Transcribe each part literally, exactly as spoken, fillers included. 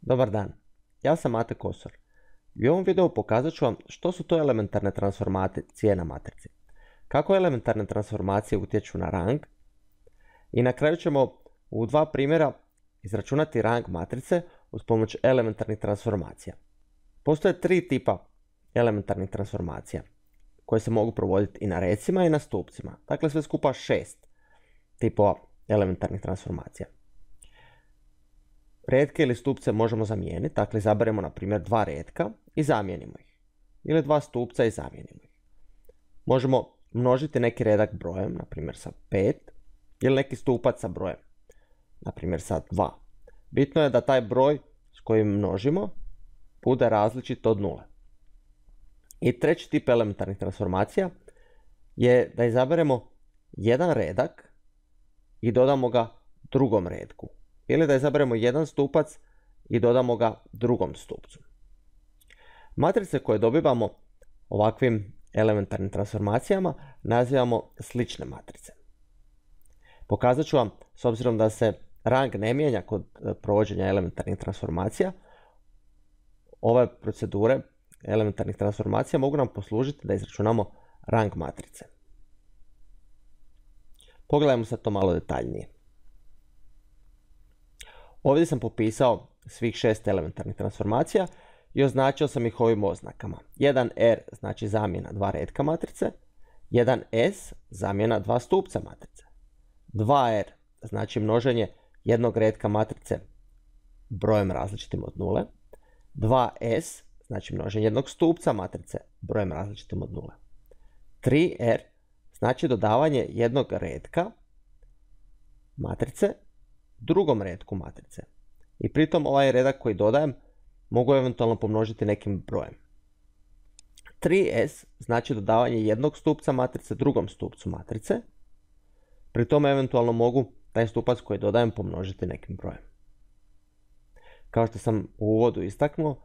Dobar dan, ja sam Mate Kosor i u ovom videu pokazat ću vam što su to elementarne transformacije na matrici, kako elementarne transformacije utječu na rang i na kraju ćemo u dva primjera izračunati rang matrice uz pomoć elementarnih transformacija. Postoje tri tipa elementarnih transformacija koje se mogu provoditi i na recima i na stupcima, dakle sve skupa šest tipova elementarnih transformacija. Retke ili stupce možemo zamijeniti, dakle izaberemo na primjer dva retka i zamijenimo ih. Ili dva stupca i zamijenimo ih. Možemo množiti neki redak brojem, na primjer sa pet, ili neki stupac sa brojem, na primjer sa dva. Bitno je da taj broj s kojim množimo bude različit od nule. I treći tip elementarnih transformacija je da izaberemo jedan redak i dodamo ga drugom redku. Ili da izaberemo jedan stupac i dodamo ga drugom stupcu. Matrice koje dobivamo ovakvim elementarnim transformacijama nazivamo slične matrice. Pokazat ću vam, s obzirom da se rang ne mijenja kod provođenja elementarnih transformacija, ove procedure elementarnih transformacija mogu nam poslužiti da izračunamo rang matrice. Pogledajmo sad to malo detaljnije. Ovdje sam popisao svih šest elementarnih transformacija i označio sam ih ovim oznakama. jedan R znači zamjena dva retka matrice, jedan S zamjena dva stupca matrice, dva R znači množenje jednog retka matrice brojem različitim od nule, dva S znači množenje jednog stupca matrice brojem različitim od nule, tri R znači dodavanje jednog retka matrice drugom retku matrice. I pritom ovaj redak koji dodajem mogu eventualno pomnožiti nekim brojem. tri S znači dodavanje jednog stupca matrice drugom stupcu matrice. Pri tome eventualno mogu taj stupac koji dodajem pomnožiti nekim brojem. Kao što sam u uvodu istaknuo,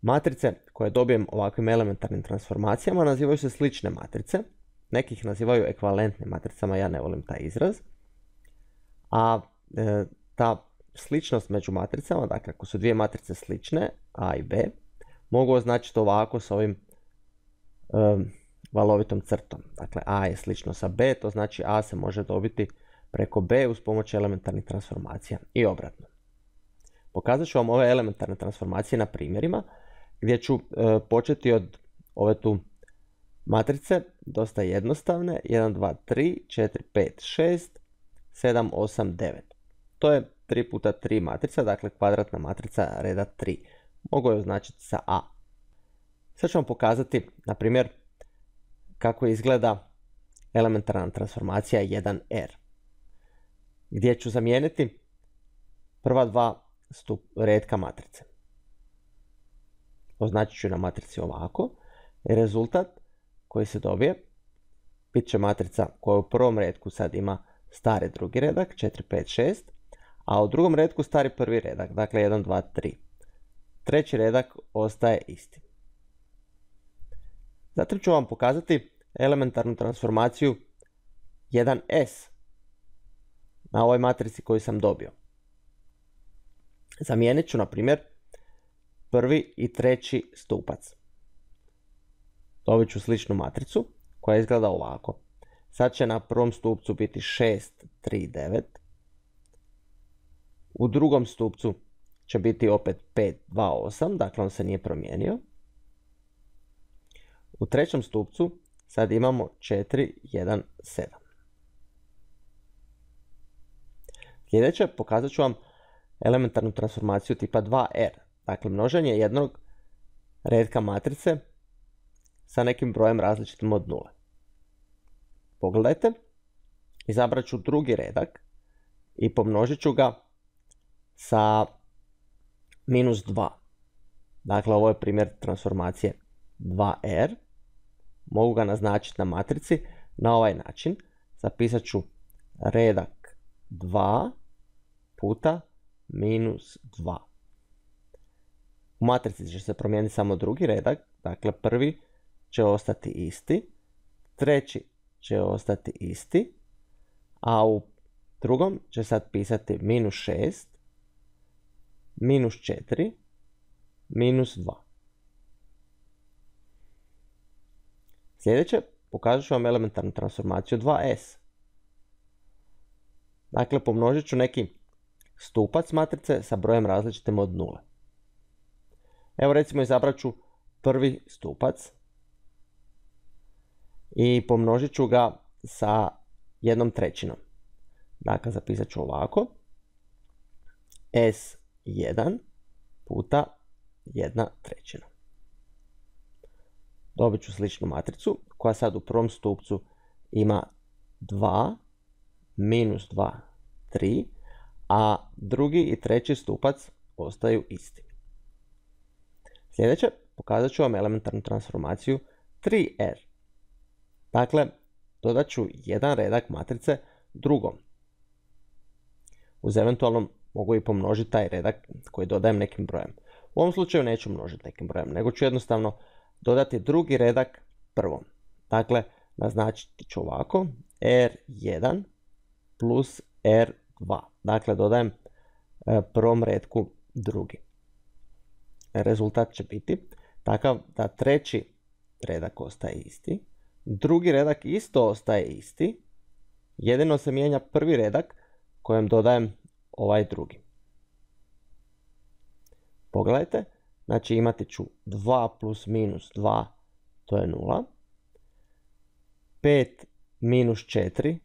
matrice koje dobijem ovakvim elementarnim transformacijama nazivaju se slične matrice. Neki ih nazivaju ekvivalentnim matricama, ja ne volim taj izraz. A e, ta sličnost među matricama, dakle ako su dvije matrice slične, A i B, mogu označiti ovako s ovim e, valovitom crtom. Dakle A je slično sa B, to znači A se može dobiti preko B uz pomoć elementarnih transformacija i obratno. Pokazat ću vam ove elementarne transformacije na primjerima gdje ću e, početi od ove tu matrice, dosta jednostavne, jedan, dva, tri, četiri, pet, šest, sedam, osam, devet. To je tri puta tri matrica, dakle kvadratna matrica reda tri. Mogu je označiti sa A. Sad ću vam pokazati, na primjer, kako izgleda elementarna transformacija jedan R, gdje ću zamijeniti prva dva stup, retka matrice. Označit ću na matrici ovako. I rezultat koji se dobije bit će matrica koja u prvom retku sad ima stari drugi redak, četiri, pet, šest, a u drugom redku stari prvi redak, dakle jedan, dva, tri. Treći redak ostaje isti. Zatim ću vam pokazati elementarnu transformaciju jedan S na ovoj matrici koju sam dobio. Zamijenit ću, na primjer, prvi i treći stupac. Dobit ću sličnu matricu koja izgleda ovako. Sad će na prvom stupcu biti šest, tri, devet. U drugom stupcu će biti opet pet, dva, osam, dakle on se nije promijenio. U trećem stupcu sad imamo četiri, jedan, sedam. Sljedeće pokazat ću vam elementarnu transformaciju tipa dva R, dakle množenje jednog retka matrice sa nekim brojem različitim od nule. Pogledajte, izabrat ću drugi redak i pomnožit ću ga sa minus dva. Dakle, ovo je primjer transformacije dva R. Mogu ga naznačiti na matrici na ovaj način. Zapisat ću redak dva puta minus dva. U matrici će se promijeniti samo drugi redak, dakle prvi će ostati isti, treći će ostati isti, a u drugom će sad pisati minus šest, minus četiri, minus dva. Sljedeće, pokazat ću vam elementarnu transformaciju dva es. Dakle, pomnožit ću neki stupac matrice sa brojem različitim od nule. Evo recimo izabrat ću prvi stupac i pomnožit ću ga sa jednom trećinom. Dakle, zapisat ću ovako. es jedan puta jedna trećina. Dobit ću sličnu matricu koja sad u prvom stupcu ima dva, minus dva, tri, a drugi i treći stupac ostaju isti. Sljedeće, pokazat ću vam elementarnu transformaciju tri er. Dakle, dodat ću jedan redak matrice drugom. Uz eventualno mogu i pomnožiti taj redak koji dodajem nekim brojem. U ovom slučaju neću množiti nekim brojem, nego ću jednostavno dodati drugi redak prvom. Dakle, naznačiti ću ovako er jedan plus er dva. Dakle, dodajem prvom redku drugi. Rezultat će biti takav da treći redak ostaje isti, drugi redak isto ostaje isti, jedino se mijenja prvi redak kojem dodajem ovaj drugi. Pogledajte, znači imati ću dva plus minus dva, to je nula, pet minus četiri,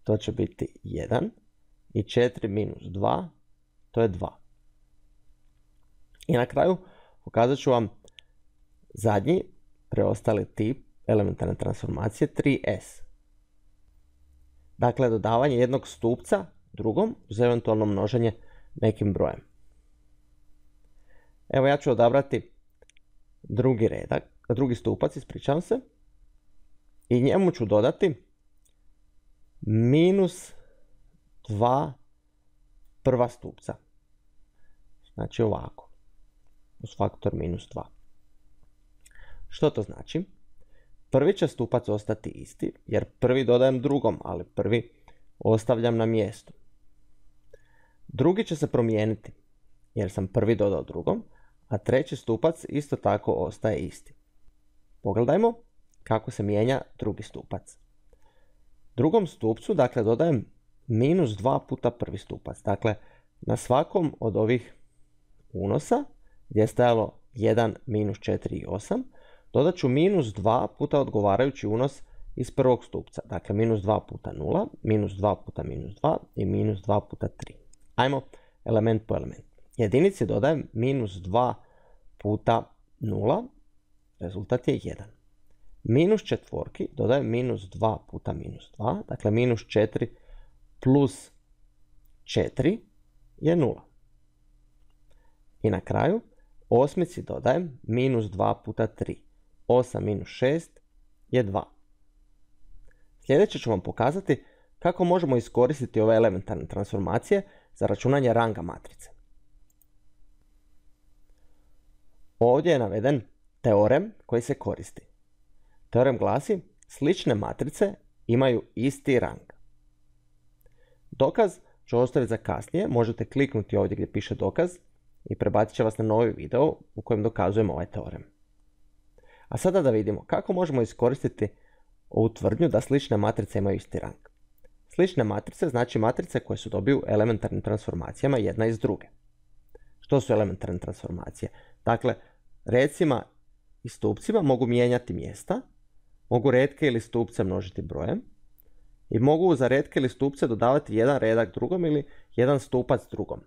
to će biti jedan, i četiri minus dva, to je dva. I na kraju pokazat ću vam zadnji preostali tip elementarne transformacije tri es. Dakle, dodavanje jednog stupca drugom uz eventualno množenje nekim brojem. Evo ja ću odabrati drugi redak, drugi stupac, ispričavam se, i njemu ću dodati minus dva prva stupca. Znači ovako, uz faktor minus dva. Što to znači? Prvi će stupac ostati isti, jer prvi dodajem drugom, ali prvi ostavljam na mjestu. Drugi će se promijeniti, jer sam prvi dodao drugom, a treći stupac isto tako ostaje isti. Pogledajmo kako se mijenja drugi stupac. Drugom stupcu, dakle, dodajem minus dva puta prvi stupac. Dakle, na svakom od ovih unosa, gdje je stajalo jedan, minus četiri i osam, dodat ću minus dva puta odgovarajući unos iz prvog stupca. Dakle, minus dva puta nula, minus dva puta minus dva i minus dva puta tri. Ajmo element po element. Jedinici dodajem minus dva puta nula, rezultat je jedan. Minus četvorki dodajem minus dva puta minus dva, dakle minus četiri plus četiri je nula. I na kraju osmici dodajem minus dva puta tri. osam minus šest je dva. Sljedeće ću vam pokazati kako možemo iskoristiti ove elementarne transformacije za računanje ranga matrice. Ovdje je naveden teorem koji se koristi. Teorem glasi: slične matrice imaju isti rang. Dokaz ću ostaviti za kasnije, možete kliknuti ovdje gdje piše dokaz i prebacit će vas na novi video u kojem dokazujemo ovaj teorem. A sada da vidimo kako možemo iskoristiti ovu tvrdnju da slične matrice imaju isti rang. Slične matrice znači matrice koje su dobiju elementarnim transformacijama jedna iz druge. Što su elementarne transformacije? Dakle, recima i stupcima mogu mijenjati mjesta, mogu retke ili stupce množiti brojem i mogu za retke ili stupce dodavati jedan redak drugom ili jedan stupac drugom.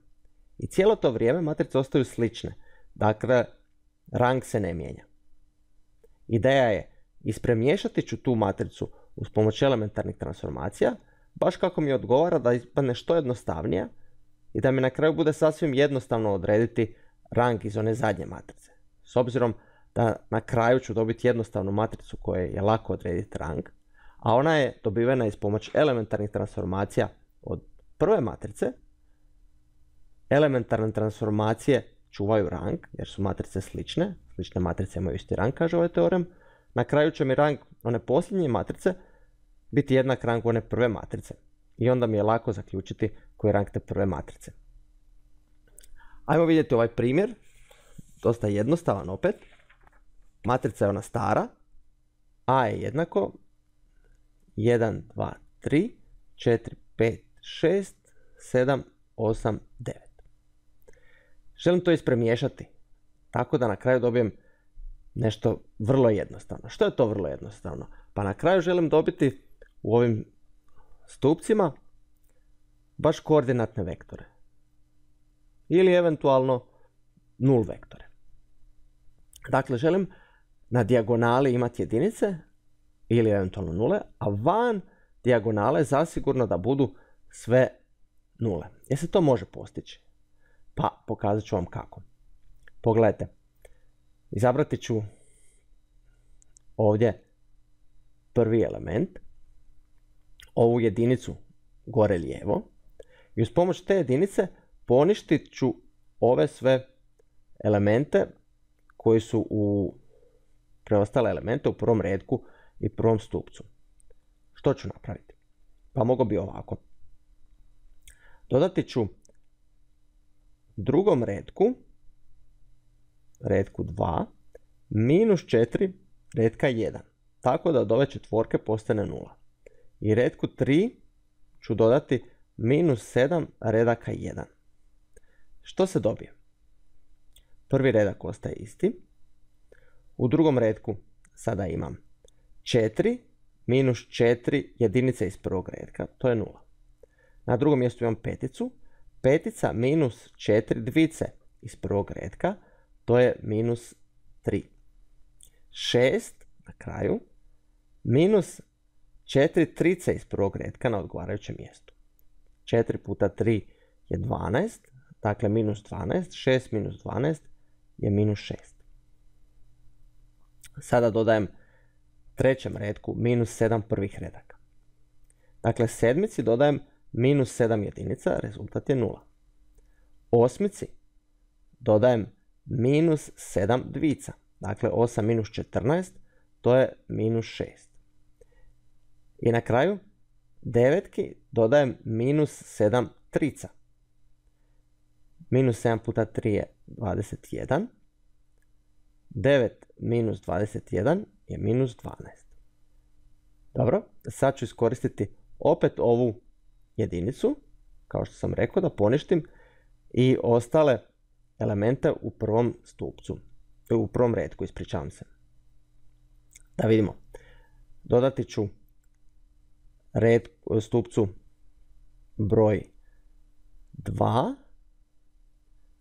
I cijelo to vrijeme matrice ostaju slične, dakle rang se ne mijenja. Ideja je ispremiješati ću tu matricu uz pomoć elementarnih transformacija, baš kako mi odgovara da ispadne što jednostavnija i da mi na kraju bude sasvim jednostavno odrediti rang iz one zadnje matrice. S obzirom da na kraju ću dobiti jednostavnu matricu koje je lako odrediti rang, a ona je dobivena iz pomoć elementarnih transformacija od prve matrice. Elementarne transformacije čuvaju rang jer su matrice slične, slične matrice imaju isti rang, kaže ovaj teorem. Na kraju će mi rang one posljednje matrice biti jednak rangu one prve matrice i onda mi je lako zaključiti koji je rang te prve matrice. Ajmo vidjeti ovaj primjer. Dosta jednostavan opet. Matrica je ona stara. A je jednako jedan, dva, tri, četiri, pet, šest, sedam, osam, devet. Želim to ispremiješati. Tako da na kraju dobijem nešto vrlo jednostavno. Što je to vrlo jednostavno? Pa na kraju želim dobiti u ovim stupcima baš koordinatne vektore. Ili eventualno nul vektore. Dakle, želim na dijagonali imati jedinice ili eventualno nule, a van dijagonale zasigurno da budu sve nule. Jer se to može postići? Pa pokazat ću vam kako. Pogledajte, izabrati ću ovdje prvi element, ovu jedinicu gore lijevo i uz pomoć te jedinice poništit ću ove sve elemente koji su u preostale elemente u prvom retku i prvom stupcu. Što ću napraviti? Pa mogu bi ovako. Dodati ću drugom retku, retku dva, minus četiri retka jedan. Tako da od ove četvorke postane nula. I retku tri ću dodati minus sedam redaka jedan. Što se dobije? Prvi redak ostaje isti. U drugom retku sada imam četiri minus četiri jedinice iz prvog retka, to je nula. Na drugom mjestu imam peticu. Petica minus četiri dvice iz prvog retka, to je minus tri. šest na kraju minus četiri trice iz prvog retka na odgovarajućem mjestu. četiri puta tri je dvanaest, dakle minus dvanaest, šest minus dvanaest je minus šest. Sada dodajem trećem retku minus sedam prvih redaka. Dakle, sedmici dodajem minus sedam jedinica, rezultat je nula. Osmici dodajem minus sedam dvica, dakle osam minus četrnaest, to je minus šest. I na kraju devetki dodajem minus sedam trica. Minus sedam puta tri je dvadeset jedan. devet minus dvadeset jedan je minus dvanaest. Dobro, sad ću iskoristiti opet ovu jedinicu, kao što sam rekao, da poništim i ostale elemente u prvom stupcu, u prvom retku, ispričavam se. Da vidimo. Dodati ću red, stupcu broj dva,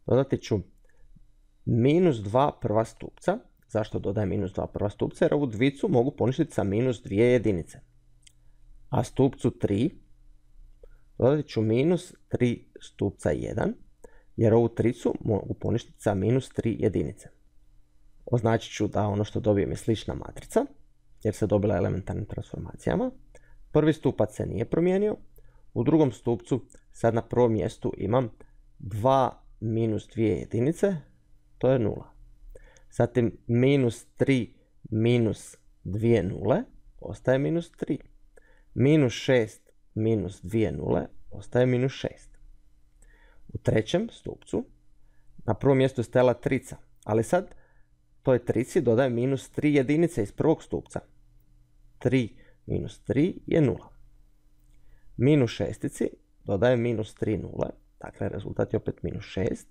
dodati ću minus dva prva stupca. Zašto dodajem minus dva prva stupca? Jer ovu dvicu mogu poništiti sa minus dvije jedinice. A stupcu tri dodati ću minus tri stupca jedan, jer ovu tricu mogu poništiti sa minus tri jedinice. Označit ću da ono što dobijem je slična matrica, jer se dobila elementarnim transformacijama. Prvi stupac se nije promijenio. U drugom stupcu sad na prvom mjestu imam dva minus dvije jedinice, to je nula. Zatim minus tri minus dvije nule, ostaje minus tri. Minus šest minus dvije nule, ostaje minus šest. U trećem stupcu na prvom mjestu je stajala trica, ali sad toj trici dodajem minus tri jedinice iz prvog stupca. tri minus tri je nula. Minus šestici dodajem minus tri nule, dakle rezultat je opet minus šest.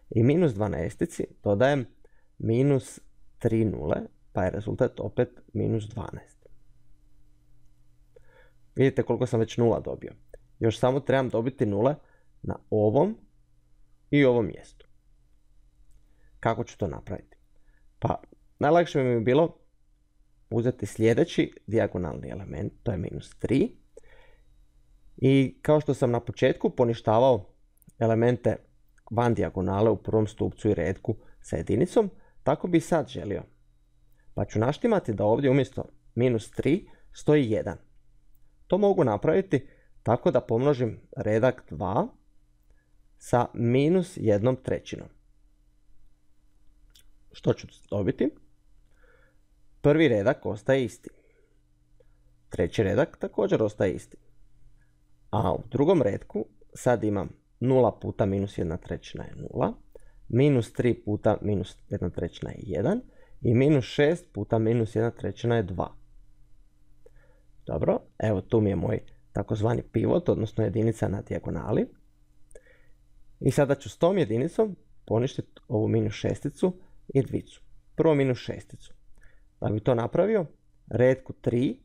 I minus dvanaestici dodajem minus tri nule, pa je rezultat opet minus dvanaest. Vidite koliko sam već nula dobio. Još samo trebam dobiti nule na ovom i ovom mjestu. Kako ću to napraviti? Pa najlakše mi je bilo uzeti sljedeći dijagonalni element, to je minus tri. I kao što sam na početku poništavao elemente van dijagonale u prvom stupcu i retku sa jedinicom, tako bi i sad želio. Pa ću naštimati da ovdje umjesto minus tri stoji jedan. To mogu napraviti tako da pomnožim redak dva sa minus jednom trećinom. Što ću dobiti? Prvi redak ostaje isti. Treći redak također ostaje isti. A u drugom retku sad imam nula puta minus jedna trećina je nula. minus tri puta minus jedna trećina je jedan i minus šest puta minus jedna trećina je dva. Dobro, evo tu mi je moj takozvani pivot, odnosno jedinica na dijagonali. I sada ću s tom jedinicom poništiti ovu minus šesticu i dvicu. Prvo minus šesticu. Da bi to napravio, redku tri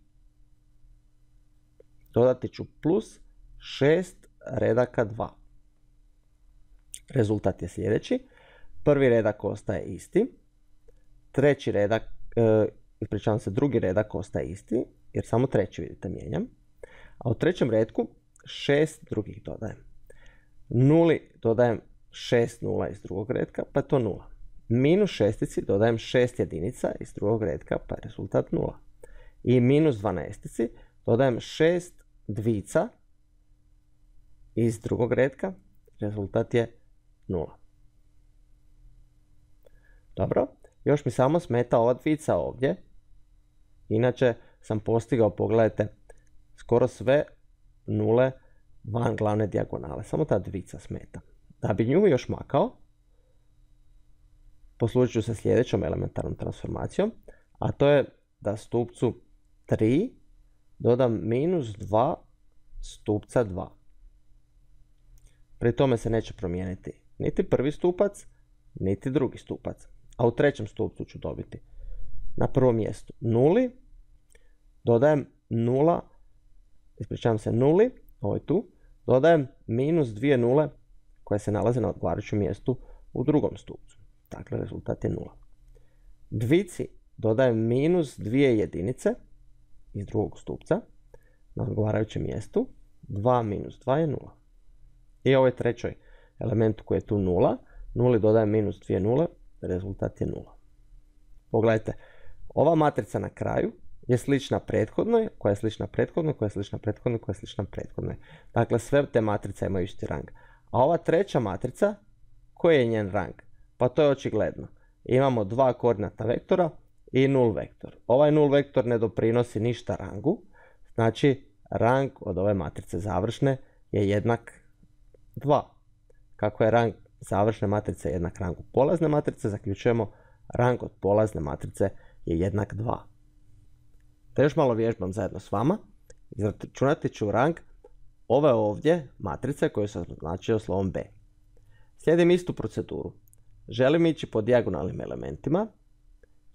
dodati ću plus šest redaka dva. Rezultat je sljedeći. Prvi redak ostaje isti. Treći redak, e, ispričavam se, drugi redak ostaje isti, jer samo treći, vidite, mijenjam. A u trećem redku šest drugih dodajem. Nuli dodajem šest nula iz drugog redka, pa je to nula. Minus šestici dodajem šest jedinica iz drugog redka, pa je rezultat nula. I minus dvanaestici dodajem šest dvica iz drugog redka, rezultat je nula. Dobro, još mi samo smeta ova dvica ovdje. Inače sam postigao, pogledajte, skoro sve nule van glavne dijagonale. Samo ta dvica smeta. Da bi nju još makao, poslužit ću se sljedećom elementarnom transformacijom, a to je da stupcu tri dodam minus dva stupca dva. Pri tome se neće promijeniti niti prvi stupac, niti drugi stupac. A u trećem stupcu ću dobiti na prvom mjestu nuli, dodajem nula, ispričavam se, nuli, ovo je tu, dodajem minus dvije nule koje se nalaze na odgovarajućem mjestu u drugom stupcu. Dakle, rezultat je nula. Dvici dodajem minus dvije jedinice iz drugog stupca na odgovarajućem mjestu. dva minus dva je nula. I ovoj trećoj elementu koji je tu nula, nuli dodajem minus dvije nule, rezultat je nula. Pogledajte, ova matrica na kraju je slična prethodnoj, koja je slična prethodnoj, koja je slična prethodnoj, koja je slična prethodnoj. Dakle, sve te matrice imaju isti rang. A ova treća matrica, koji je njen rang? Pa to je očigledno. Imamo dva koordinatna vektora i nul vektor. Ovaj nul vektor ne doprinosi ništa rangu, znači rang od ove matrice završne je jednak dva. Kako je rang završne matrice jednak rangu polazne matrice, zaključujemo rang od polazne matrice je jednak dva. Da još malo vježbam zajedno s vama, izračunati ću rang ove ovdje matrice koje sam označio slovom B. Slijedim istu proceduru. Želim ići po dijagonalnim elementima,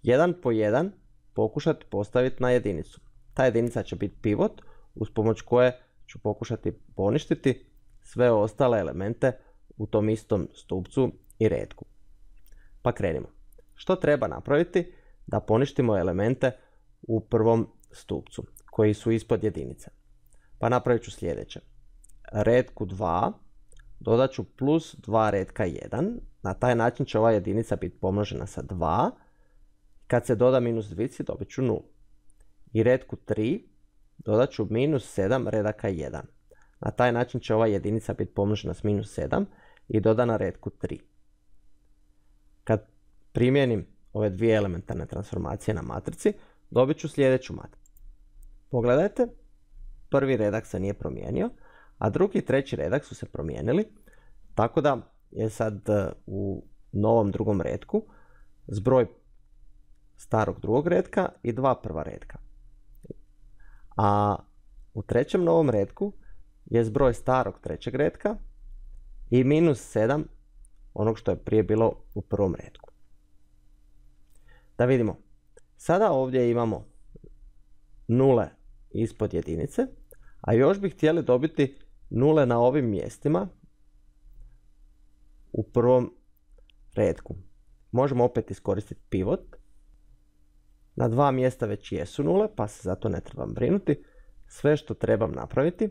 jedan po jedan pokušati postaviti na jedinicu. Ta jedinica će biti pivot uz pomoć koje ću pokušati poništiti sve ostale elemente u tom istom stupcu i redku. Pa krenimo. Što treba napraviti da poništimo elemente u prvom stupcu koji su ispod jedinice? Pa napravit ću sljedeće. Redku dva dodat ću plus dva redka jedan. Na taj način će ova jedinica biti pomnožena sa dva. Kad se doda minus dvici dobit ću nula. I redku tri dodat ću minus sedam redaka jedan. Na taj način će ova jedinica biti pomnožena s minus sedam i dodana redku tri. Kad primijenim ove dvije elementarne transformacije na matrici, dobit ću sljedeću matricu. Pogledajte, prvi redak se nije promijenio, a drugi i treći redak su se promijenili, tako da je sad u novom drugom redku zbroj starog drugog redka i dva prva redka. A u trećem novom redku je zbroj starog trećeg redka i minus sedam onog što je prije bilo u prvom redku. Da vidimo. Sada ovdje imamo nule ispod jedinice, a još bi htjeli dobiti nule na ovim mjestima u prvom redku. Možemo opet iskoristiti pivot. Na dva mjesta već jesu nule, pa se zato ne trebam brinuti. Sve što trebam napraviti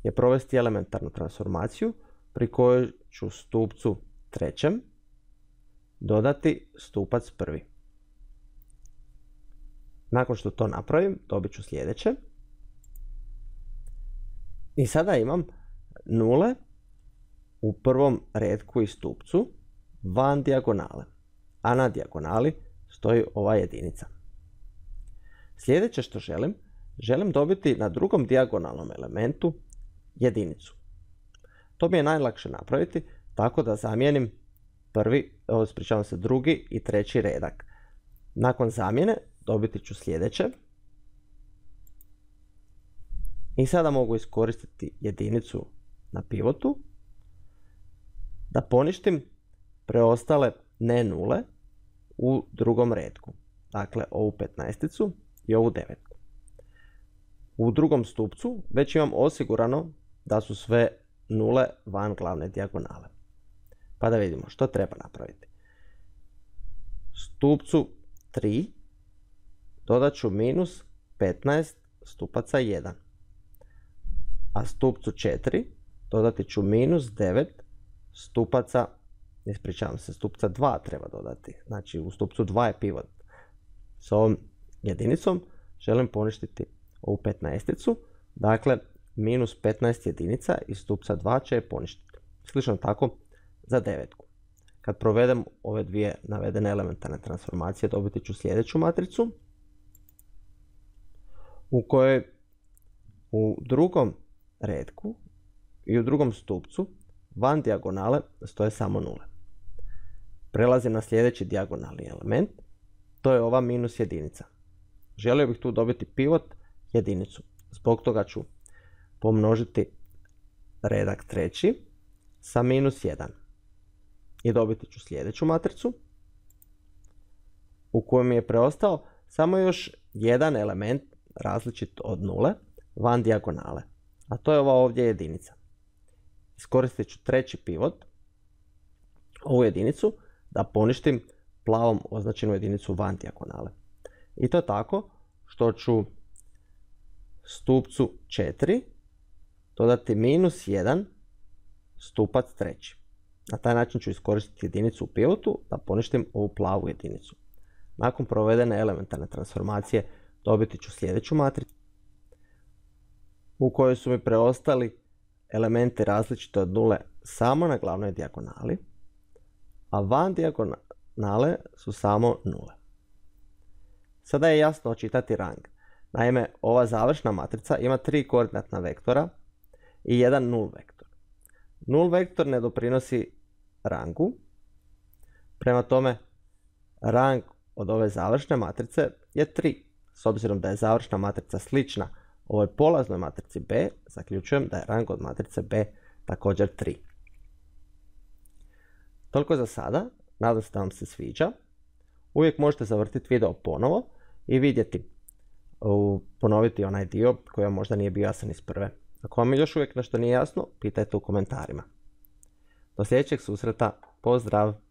je provesti elementarnu transformaciju pri kojoj ću stupcu trećem dodati stupac prvi. Nakon što to napravim, dobit ću sljedeće. I sada imam nule u prvom redku i stupcu van dijagonale, a na dijagonali stoji ova jedinica. Sljedeće što želim, želim dobiti na drugom dijagonalnom elementu jedinicu. To mi je najlakše napraviti tako da zamijenim prvi, ispričavam se, drugi i treći redak. Nakon zamjene dobiti ću sljedeće. I sada mogu iskoristiti jedinicu na pivotu da poništim preostale ne nule u drugom redku. Dakle, ovu petnaesticu i ovu devetku. U drugom stupcu već imam osigurano da su sve nule van glavne dijagonale. Pa da vidimo što treba napraviti. Stupcu tri dodat ću minus petnaest stupaca jedan. A stupcu četiri dodati ću minus devet stupaca, ispričavam se, stupca dva treba dodati. Znači u stupcu dva je pivot. S ovom jedinicom želim poništiti ovu petnaesticu. Dakle, minus petnaest jedinica iz stupca dva će je poništiti. Slično tako za devetku. Kad provedem ove dvije navedene elementarne transformacije, dobiti ću sljedeću matricu u kojoj u drugom redku i u drugom stupcu van dijagonale stoje samo nule. Prelazim na sljedeći dijagonalni element, to je ova minus jedinica. Želio bih tu dobiti pivot jedinicu. Zbog toga ću pomnožiti redak treći sa minus jedan. I dobiti ću sljedeću matricu u kojoj mi je preostao samo još jedan element različit od nule van dijagonale. A to je ova ovdje jedinica. Iskoristit ću treći pivot, ovu jedinicu, da poništim plavom označenu jedinicu van dijagonale. I to tako što ću stupcu četiri dodati minus jedan stupac treći. Na taj način ću iskoristiti jedinicu u pivotu da poništim ovu plavu jedinicu. Nakon provedene elementarne transformacije dobiti ću sljedeću matricu u kojoj su mi preostali elementi različite od nule samo na glavnoj dijagonali, a van dijagonale su samo nule. Sada je jasno očitati rang. Naime, ova završna matrica ima tri koordinatna vektora i jedan nul vektor. Nul vektor ne doprinosi rangu, prema tome rang od ove završne matrice je tri. S obzirom da je završna matrica slična ovoj polaznoj matrici B, zaključujem da je rang od matrice B također tri. Toliko za sada, nadam se da vam se sviđa. Uvijek možete zavrtiti video ponovo i vidjeti, ponoviti onaj dio koji vam možda nije bio jasan iz prve. Ako vam još uvijek nešto nije jasno, pitajte u komentarima. Do sljedećeg susreta, pozdrav!